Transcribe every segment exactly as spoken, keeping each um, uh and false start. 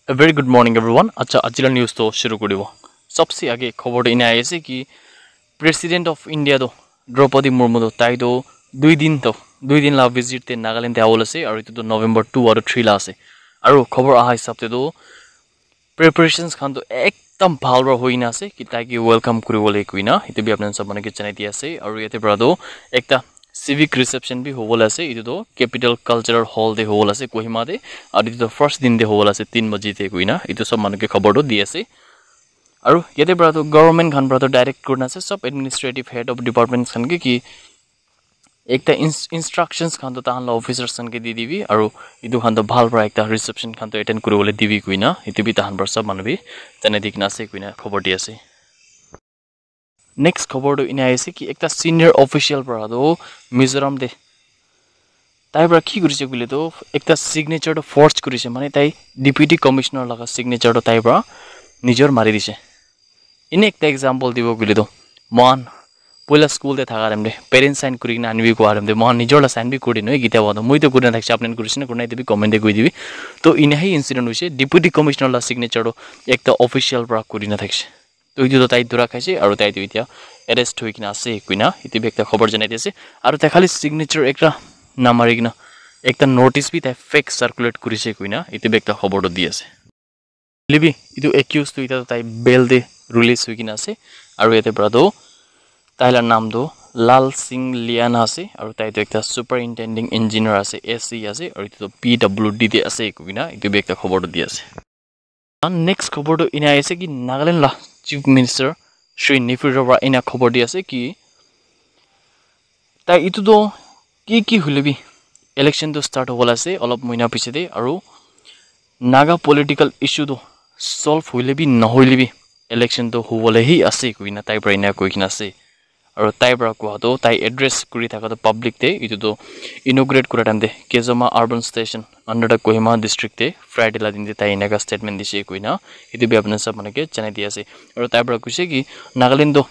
A very good morning, everyone. Acha, ajila news to shuru kuri dibo. Sabse age khobor to ina ahi ase ki President of India to Draupadi Murmu to tai to dui din to dui din la visit te Nagaland te awol ase, aru itu to November two aru three la ase. Aru khobor aha hisab te to preparations khan to ekdam bhal para hoina ase ki tai ki welcome kuribole kuina. Itu bi apni khan sob manu ke janai di ase. Aru yate para to ekta civic reception bi hobole ase. Itu to Capital Cultural Hall te hobole ase Kohima te. Aru itu to first din te hobole ase tin baji te kuina. Itu sob manu ke khobor to di ase. Aru yate para to government khan para to direct kurina ase, sob administrative head of departments khan ke ki ekta ins- instructions khan to tahan la officers khan ke di dibi, aru itu khan to bhal para ekta reception khan to attend kuribole dibi kuina itu bi tahan para sob manu bi janai di kena ase kuina khobor di ase. Next khobor to ina ahi ase ki ekta senior official para to Mizoram te tai para ki kurise koile to ekta signature to forge kurise, mane tai deputy commissioner laga signature to tai para nijor mari dise. Ene ekta example dibo koile to mohan poila school te thaka time te parents sign kuri kena anibi kowa time te mohan nijor la sign bi kuri dinu, eh, kitia ba to moi to kuri na thakise, apni khan kurise na kuri na itu bi comment te koi dibi. To ina hi incident hoise, deputy commissioner la signature to ekta official para kuri na thakise. To itu to tai dura khaise aru tai to itya arrest hoi kena ase kuina itu bi ekta khobor janai di ase. Aru tai khali signature ekta namari kena ekta notice bi tai fake circulate kurise kuina itu bi ekta khobor to di ase. Hoilebi itu accused tu itya tai bail te release hoi kena ase. Aru yate para tu tai la naam tu Lal Singh Liana ase. Aru tai tu ekta superintending engineer ase, S E ase. Aru itu tu P W D te ase koina itu bi ekta khobor tu di ase. And next khobor tu ina ase ki Nagaland la Chief Minister Shri Neiphiu Rio para ina khobor di ase ki tai itu tu ki ki hoilebi election tu start hobole ase olop moina piche te, aru Naga political issue tu solve hoilebi nahoilebi election tu hobole hi ase koina tai para ina koi kena ase. Aru tai para kowa tu tai address kuri thaka tu public te itu tu inaugurate kura time te Kezoma urban station under the Kohima district te Friday la din te tai eneka statement dise koina itu bi apni khan sob manu ke janai di ase. Aru tai para koise ki Nagaland tu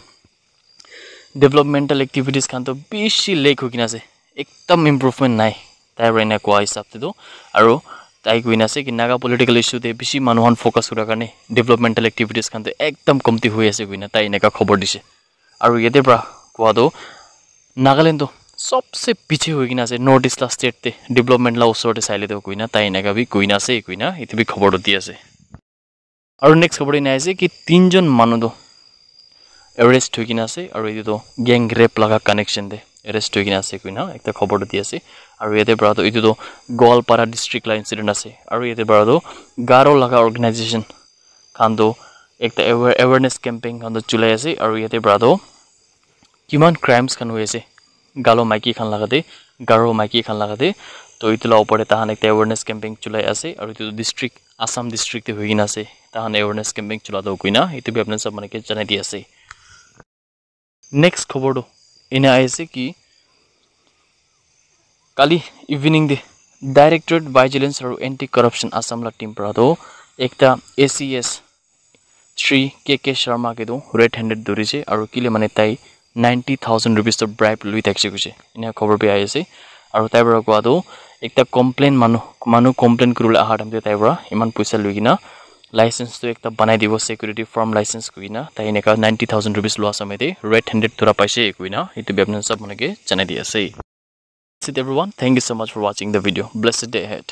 developmental activities khan to bishi lack hoi kena ase, ekdam improvement nai, tai para ena kowa hisab te to. Aru tai koina ase ki Naga political issue te bishi manu khan focus kura karne developmental activities khan to ekdam komti hoi ase koina tai eneka khobor dise. Aru yate para kowa to Nagaland to sobse piche hoi kena ase North East la state te, development la usor te saile to koina tai eneka bi koina ase koina itu bi khobor to di ase. Aru next khobor ina ase ki tinjon manu tu arrest hoi kena ase, aru itu tu gang rape laga connection te arrest hoi kena ase koina ekta khobor tu di ase. Aru yate para tu itu tu Goalpara district la incident ase, aru yate para tu Garo laga organization khan tu ekta aware- awareness campaign khan tu chulai ase, aru yate para tu kiman crimes khan hoi ase Galo maiki khan laga te, Garo maiki khan laga te. To itu la upor te tahan ekta awareness campaign chulai ase, aru itu district, Assam district te hoi kena ase, tahan awareness campaign chula to koina itu bi apni khan sob manu ke janai di ase. Next khobor tu ena ahi ase ki kali evening te Directorate Vigilance aru Anti Corruption Assam la team para tu ekta A C S Shri K K Sharma ke tu red handed dhurise aru kile mane tai ninety thousand rupees to bribe lui thakise koise. Ena khobor bi ahi ase. Aru tai para kowa tu ekta complain manu, manu complain kuribole aha time te tai para iman poisa lui kena license tu ekta banai dibo, security firm license koi kena tai eneka ninety thousand rupees lua samay te red handed dhura paise koina itu bi apni khan sob manu ke janai di ase. That's it, everyone. Thank you so much for watching the video. Blessed day ahead.